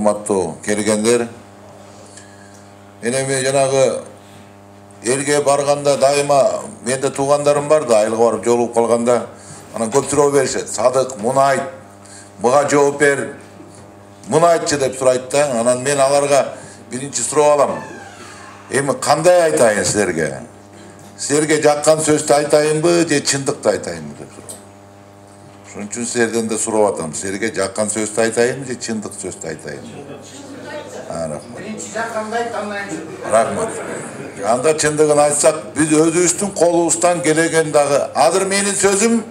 урматтуу келгендер. Эми жанагы элге барганда дайыма менде туугандарым бар да, айылга барып жолугуп калганда анан көп суроо беришет. Садык, муну айт, мага жооп бер, муну айтчы деп сурайт да. Анан мен аларга биринчи суроо алам. Эми кандай айтайын силерге? Силерге жаккан сөздү айтайынбы же чындыкты айтайынбы деп суроо. Ошон үчүн силерден да сурап атам. Силерге жаккан сөздү айтайынбы же чындык сөздү айтайынбы? Рахмат. Биринчи жакканды айт, андан кийин. Рахмат. Анда чындыгын айтсак, биз өзүбүздүн колубуздан келген дагы. Азыр менин сөзүм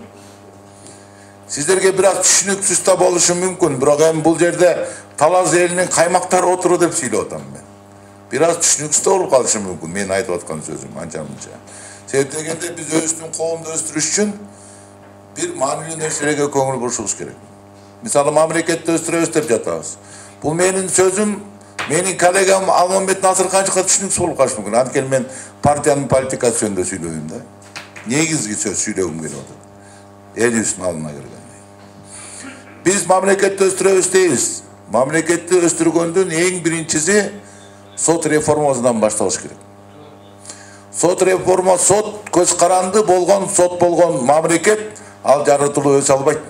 сиздерге бир аз түшүнүксүз да болушу мүмкүн, бирок эми бул жерде Талас элинин каймактары отуру деп сүйлөп атам мен. Бир аз түшүнүксүз да болуп калышы мүмкүн мен айтып аткан сөзүм анча-мынча. Себеп дегенде биз өзүбүздүн коомду өстүрүш үчүн бир маанилүү нерселерге көңүл бурушубуз керек. Мисалы, мамлекетти өстүрөбүз деп жатабыз. Бул менин сөзүм, менин коллегам Алмамбет Насырканчыкка түшүнүксүз болуп калышы мүмкүн. Анткени мен партиянын политикасы жөнүндө сүйлөйм да. Негизги сөз сүйлөгүм келип атат. Элибиздин алдына келгенде. Биз мамлекетти өстүрөбүз дейбиз. Мамлекетти өстүргөндүн эң биринчиси сот реформасынан башталыш керек. Сот реформа, сот көз каранды болгон, сот болгон мамлекет ал жаратылып өсө албайт.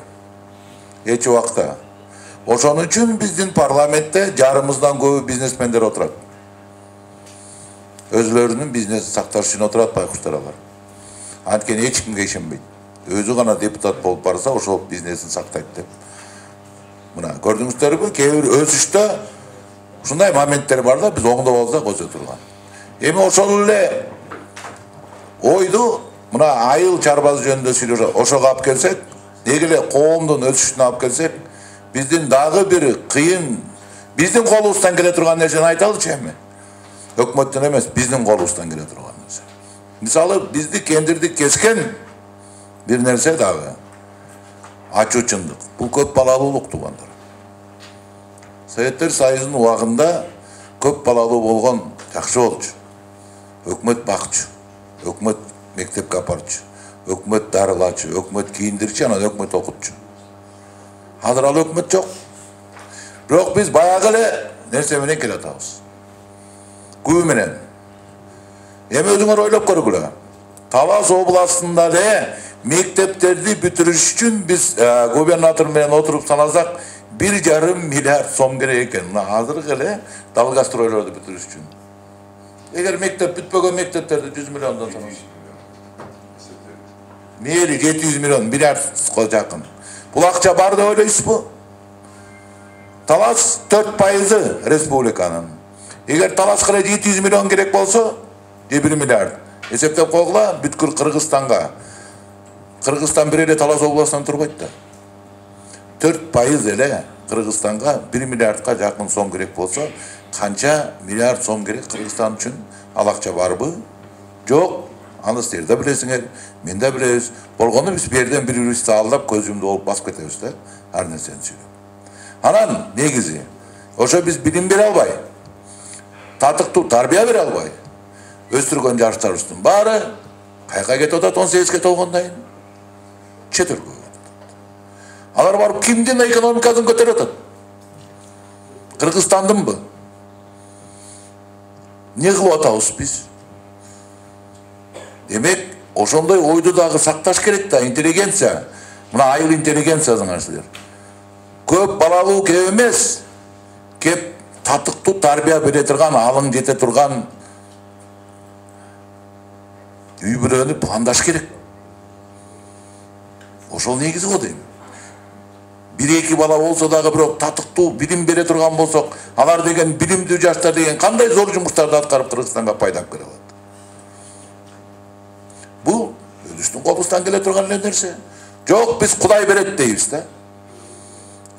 Эч убакта. Ошон үчүн биздин парламентте жарымыздан көбү бизнесмендер отурат. Өзлөрүнүн бизнесин сакташ үчүн отурат байкуштар алар. Анткени эч кимге ишенбейт. Өзү гана депутат болуп барса, ошол бизнесин сактайт деп. Мына көрдүңүздөрбү, кээ бир өсүштө ушундай моменттер бар да, биз оңдоп алсак өсө турган. Эми ошол эле ойду мына айыл чарбасы жөнүндө сүйлөшөт. Ошого алып келсек, деги эле коомдун өсүшүнө алып келсек, биздин дагы бир кыйын, биздин колубуздан келе турган нерсени айталычы эми. Өкмөттөн эмес, биздин колубуздан келе турган нерсе. Мисалы, бизди кендирди кескен бир нерсе дагы ачуучундук. Бул көп балалуулук, туугандар. Советтер Союзунун убагында көп балалуу болгон жакшы болчу. Өкмөт бакчу, өкмөт мектепке апарчу, өкмөт дарылачу, өкмөт кийиндирчү, анан өкмөт окутчу. Азыр ал өкмөт жок. Бирок биз баягы эле нерсе менен келатабыз. Күбө менен. Эми өзүңөр ойлоп көргүлө. Талас областында эле мектептерди бүтүрүш үчүн биз губернатор менен отуруп санасак 1,5 миллиард сом керек экен. Мына азыркы эле Далгастройлорду бүтүрүш үчүн. Эгер мектеп бүтпөгөн мектептерди 100 миллиондон санасак. Мээли 700 миллион, миллиардга жакын. Бул акча бар деп ойлойсузбу? Талас 4% республиканын. Эгер Таласка эле 700 миллион керек болсо, 1 миллиард. Эсептеп койгула, бүткүл Кыргызстанга. Кыргызстан бир эле Талас областынан турбайт да. 4% эле Кыргызстанга 1 миллиардка жакын сом керек болсо, канча миллиард сом керек Кыргызстан үчүн? Ал акча барбы? Жок. Аны силер да билесиңер, мен да билебиз. Болгону биз берден бири-бирибизди алдап, көз жұмды болуп басып кетебиз да, ар нерсени сүйлөп. Анан негизи, ошо биз билим бере албай, татыктуу тарбия бере албай, өстүргөн жаштарыбыздын баары кайка кетип атат 18-ге толгондон кийин? Чет өлкөгө кетип атат. Алар барып кимдин экономикасын көтөрүп атат? Кыргызстандынбы? Не кылып атабыз биз? Демек, ошондой ойду дагы сакташ керек да, интеллигенция. Мына айыл интеллигенциясыңар силер. Көп балалуу кеп эмес, кеп татыктуу тарбия бере турган, алың жете турган үй бүлөнү пландаш керек. Ошол негизи го дейм. 1-2 бала болсо дагы бирок татыктуу билим бере турган болсок, алар деген билимдүү жаштар деген кандай зор жумуштарды аткарып Кыргызстанга пайда алып келе алат. Бул өзүбүздүн колубуздан келе турган нерсе. Жок, биз Кудай берет дейбиз да.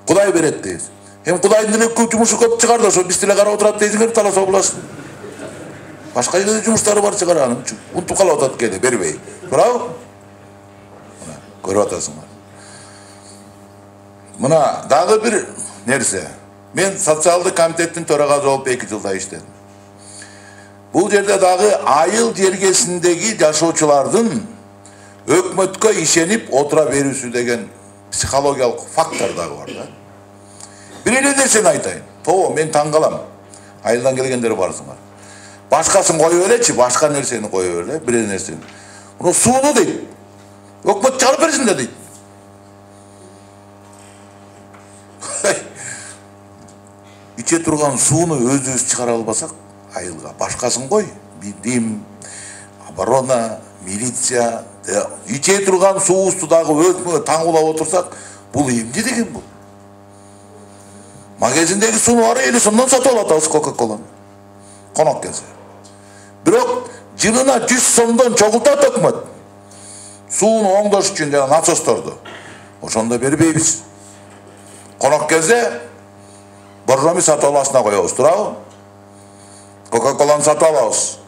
Кудай берет дейбиз. Эми Кудайдын эле көп жумушу көп чыгар да, ошо биз деле карап отурат дейсиңер Талас областын. Башка эле жумуштары бар чыгар анын үчүн. Унутуп калып атат кээде бербей. Туурабы? Мына көрүп атасыңар. Мына дагы бир нерсе. Мен социалдык комитеттин төрагасы болуп 2 жылда иштедим. Бул жерде дагы айыл жергесиндеги жашоочулардын өкмөткө ишенип отура берүүсү деген психологиялык фактор дагы бар да. Бир эле нерсени айтайын. Мен таң калам. Айылдан келгендер барсыңар. Башкасын коюп элечи, башка нерсени коюп эле, бир нерсени. Муну сууну дейт. Өкмөт чыгарып берсин да дейт. Иче турган сууну өзүбүз чыгара албасак, айылга башкасын кой. Бидим, оборона, милиция, иче турган суубузду дагы өзүнө таңгулап отурсак, бул эмне деген бул? Магазиндеги сууну ары 50 сомдон сатып алып атабыз Кока-Коланы. Конок келсе. Бирок жылына 100 сомдон чогултат өкмөт. Сууну оңдош үчүн жана насосторду. Ошондо бербейбиз. Конок келсе, боржоми сатып аласына коебуз, турабы? Кока-Коланы сатып алабыз.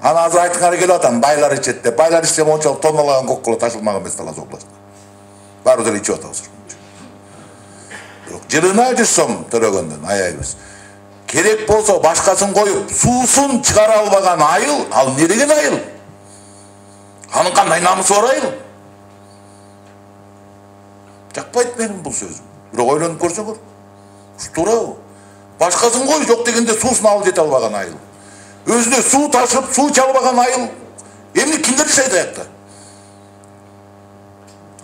Аны азыр айтканга келип атам, байлар ичет деп. Байлар ичсе мончалык тонналаган Кока-Кола ташылмаган эмес Талас областында. Баары деле ичип атабыз. Бирок жылына 100 сом төлөгөндөн аябыз. Керек болсо башкасын коюп, суусун чыгара албаган айыл, ал эмне деген айыл? Анын кандай намысы бар айыл? Жакпайт менин бул сөзүм. Бирок ойлонуп көрсөңөр, туурабы? Башкасын кой, жок дегенде суусун алып жете албаган айыл. Өзүнө суу ташып, суу чалбаган айыл. Эмне кимдер жашайт аякта?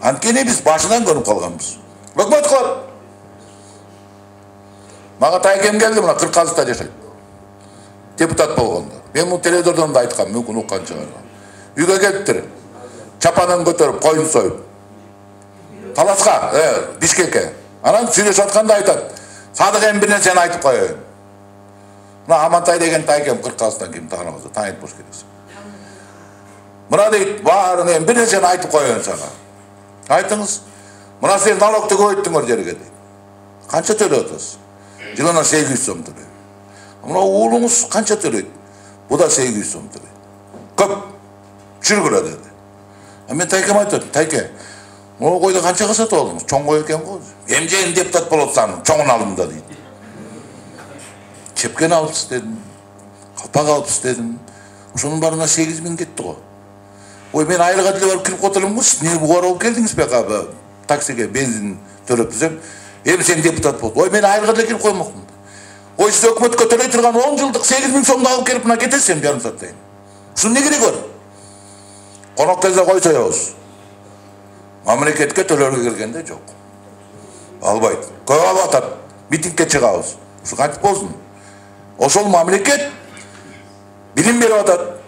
Анткени биз башынан көрүп калганбыз. Өкмөт кылат. Мага тайкем келди, мына Кырказда жашайт. Депутат болгондо. Мен муну телевизордон да айткам, мүмкүн уккан чыгар. Үйгө келиптир. Чапанын көтөрүп, коюн союп. Таласка, Бишкекке. Анан сүйлөшүп атканда айтат. Садык эми бир нерсени айтып коеюн. Мына Амантай деген тайкем Кырказдан ким тааныбыз, таанып болуш керек. Мына дейт, баарын эми бир нерсени айтып коеюн сага. Айтыңыз. Мына сен налогду көбөйттүңөр жерге дейт. Канча төлөп атасыз? Жылына 800 сом төлөйт. Мына уулуңуз канча төлөйт? Бу да 800 сом төлөйт. Көп. Жүргүлө деди. Мен тайкем айтып, тайке, могу койду канчага сатып алдыңыз? Чоң кой экен го. Эмжейин депутат болуп атсам, чоңун алдым да дейт. Чепкен алыпсыз дедим. Калпак алыпсыз дедим. Ошонун барына 8000 кетти го. Ой, мен айылга деле барып кирип отурмун. Эмне бугар болуп келдиңиз бека? Таксиге бензин төлөп десем, эми сен депутат болду. Ой, мен айылга деле кирип коймокмун. Ой, сиз өкмөткө төлөй турган 10 жылдык 8000 сомду алып келип мына кетесиз жарым сааттан. Ушунун эмне кереги бар? Конок келсе кой соебуз. Мамлекетке төлөргө келгенде жок. Албайт. Көп алып атат. Митингке чыгабыз. Ушу кантип болсун? Ошол мамлекет билим берип атат.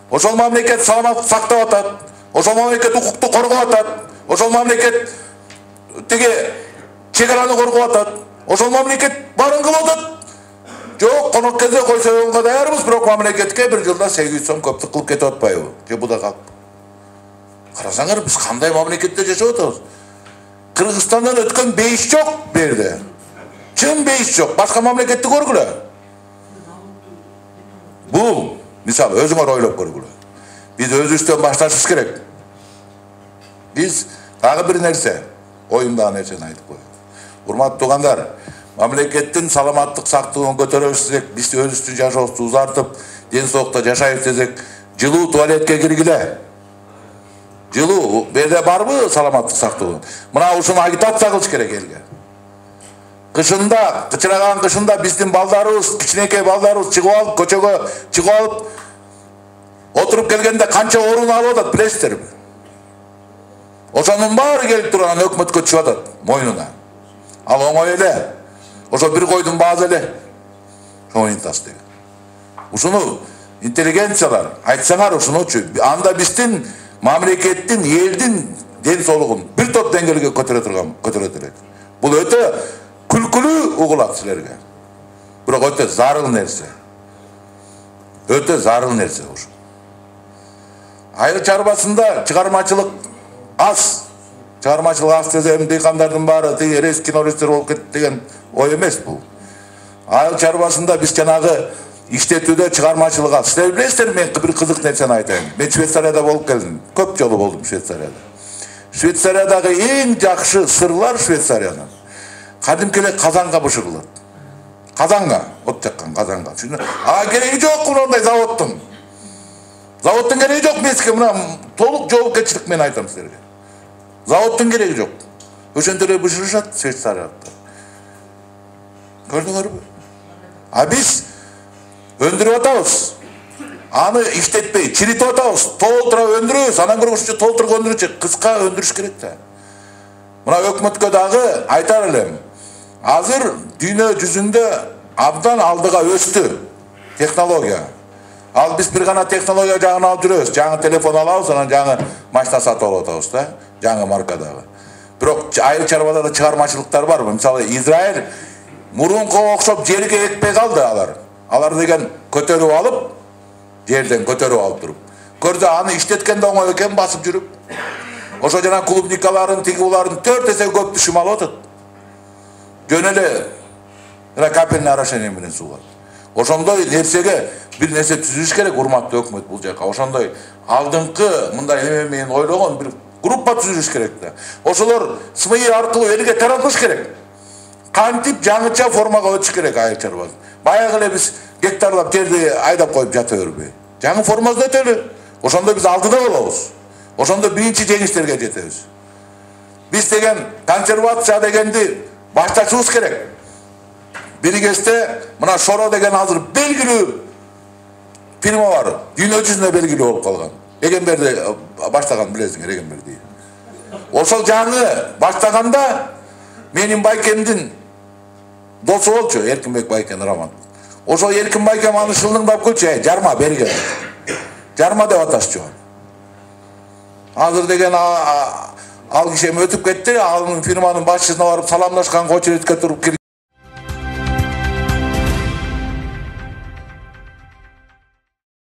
Ошол мамлекет саламаттык сактап атат. Ошол мамлекет укукту коргоп атат. Ошол мамлекет теге чегараны коргоп атат. Ошол мамлекет баарын кылып атат. Жок, конок келсе кой союлга даярбыз, бирок мамлекетке бир жылда 800 сом көптүк кылып кетип атпайбы? Же бу да калп? Карасаңар, биз кандай мамлекетте жашап атабыз? Кыргызстандан өткөн бейиш жок бу жерде. Чын бейиш жок. Башка мамлекетти көргүлө. Бул, мисалы, өзүңөр ойлоп көргүлө. Биз өзүбүздөн башташыбыз керек. Биз дагы бир нерсе, оюмдагы нерсени айтып коеюн. Урматтуу туугандар, мамлекеттин саламаттык сактыгын көтөрөбүз десек, биз өзүбүздүн жашообузду узартып, ден соолукта жашайбыз десек, жылуу туалетке киргиле. Жылуу, берде барбы саламаттык сактоо? Мына ушуну агитация кылыш керек элге. Кышында, кычыраган кышында биздин балдарыбыз, кичинекей балдарыбыз чыгып алып, көчөгө чыгып алып, отуруп келгенде канча орун алып атат, билесиздерби? Ошонун баары келип турган өкмөткө түшүп атат мойнуна. Ал оңой эле. Ошо бир койдун баазы эле. Шоңуйтас деген. Ушуну интеллигенциялар айтсаңар ушунучу, анда биздин мамлекеттин, элдин ден соолугун бир топ деңгээлге көтөрөт элек. Бул өтө күлкүлүү угулат силерге. Бирок өтө зарыл нерсе. Өтө зарыл нерсе ушу. Айыл чарбасында чыгармачылык аз. Чыгармачылык аз десем, дыйкандардын баары тиги кинорежиссер болуп кетти деген ой эмес бул. Айыл чарбасында биз жанагы иштетүүдө чыгармачылык аз. Силер билесиздер, мен бир кызык нерсени айтайын. Мен Швейцарияда болуп келдим. Көп жолу болдум Швейцарияда. Швейцариядагы эң жакшы сырлар Швейцариянын. Кадимки эле казанга бышырылат. Казанга, от жаккан казанга. Кереги жок мындай заводдун. Заводдун кереги жок бизге, мына толук жоопкерчилик менен айтам Көрдүңөрбү? А биз өндүрүп атабыз. Аны иштетпей, чиритип атабыз. Толтура өндүрөбүз, анан көргүчү толтуруп өндүрүчү кыска өндүрүш керек да. Мына өкмөткө дагы айтар элем. Азыр дүйнө жүзүндө абдан алдыга өстү технология. Ал биз бир гана технология жагын алып жүрөбүз. Жаңы телефон алабыз, анан жаңы машина сатып алып атабыз да, жаңы маркадагы. Бирок айыл чарбада да чыгармачылыктар бар. Мисалы Израиль мурункуга окшоп жерге экпей калды алар. Алар деген көтөрүп алып, жерден көтөрүп алып туруп. Көрдү аны иштеткенде оңой экен басып жүрүп. Ошо жана клубникаларын, тигуларын 4 эсе көп түшүм алып атат. Жөн эле капельный орошение менен сууга. Ошондой нерсеге бир нерсе түзүш керек, урматтуу өкмөт бул жака. Ошондой алдыңкы мындай эме менен ойлогон бир группа түзүш керек да. Ошолор СМИ аркылуу элге таратыш керек. Кантип жаңыча формага өтүш керек айыл чарба. Баягы эле биз гектарлап жерди айдап коюп жата бербей. Жаңы формада өтөлү. Ошондо биз алдыда болобуз. Ошондо биринчи жеңиштерге жетебиз. Биз деген консервация дегенди башташыбыз керек. Бир кезде мына Шоро деген азыр белгилүү фирма бар. Дүйнө жүзүнө белгилүү болуп калган. Эгемберди баштаган билесиңер, Эгемберди. Ошол жаңы баштаганда менин байкемдин досу болчу, Эркинбек байкен Раман. Ошол Эркин байкем аны шылдыңдап кылчу, жарма берген. Жарма деп аташчу. Азыр деген ал киши өтүп кетти, ал фирманын башчысына барып саламдашкан, очередке туруп